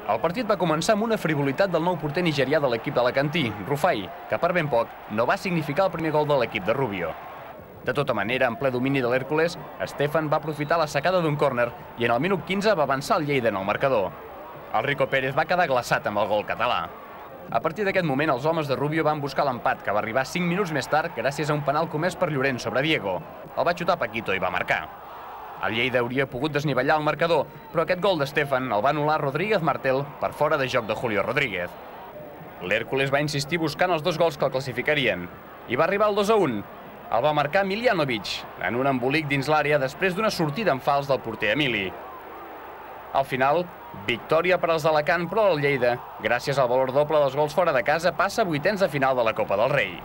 El partit va començar amb una frivolitat del nou porter nigerià de l'equip d'Alacantí, Rufai, que per ben poc no va significar el primer gol de l'equip de Rubio. De tota manera, en ple domini de l'Hèrcules, Stefan va aprofitar la sacada d'un córner i en el minut 15 va avançar el Lleida en el marcador. El Rico Pérez va quedar glaçat amb el gol català. A partir d'aquest moment, els homes de Rubio van buscar l'empat, que va arribar 5 minuts més tard gràcies a un penal comès per Llorent sobre Diego. El va xutar Paquito i va marcar. El Lleida hauria pogut desnivellar el marcador, però aquest gol de Stefan el va anul·lar Rodríguez Martel per fora de joc de Julio Rodríguez. L'Hèrcules va insistir buscant els 2 gols que el classificarien i va arribar al 2-1. El va marcar Miljanovic en un embolic dins l'àrea després d'una sortida en fals del porter Emili. Al final, victòria per als d'Alacant, però el Lleida, gràcies al valor doble dels gols fora de casa, passa a vuitens de final de la Copa del Rei.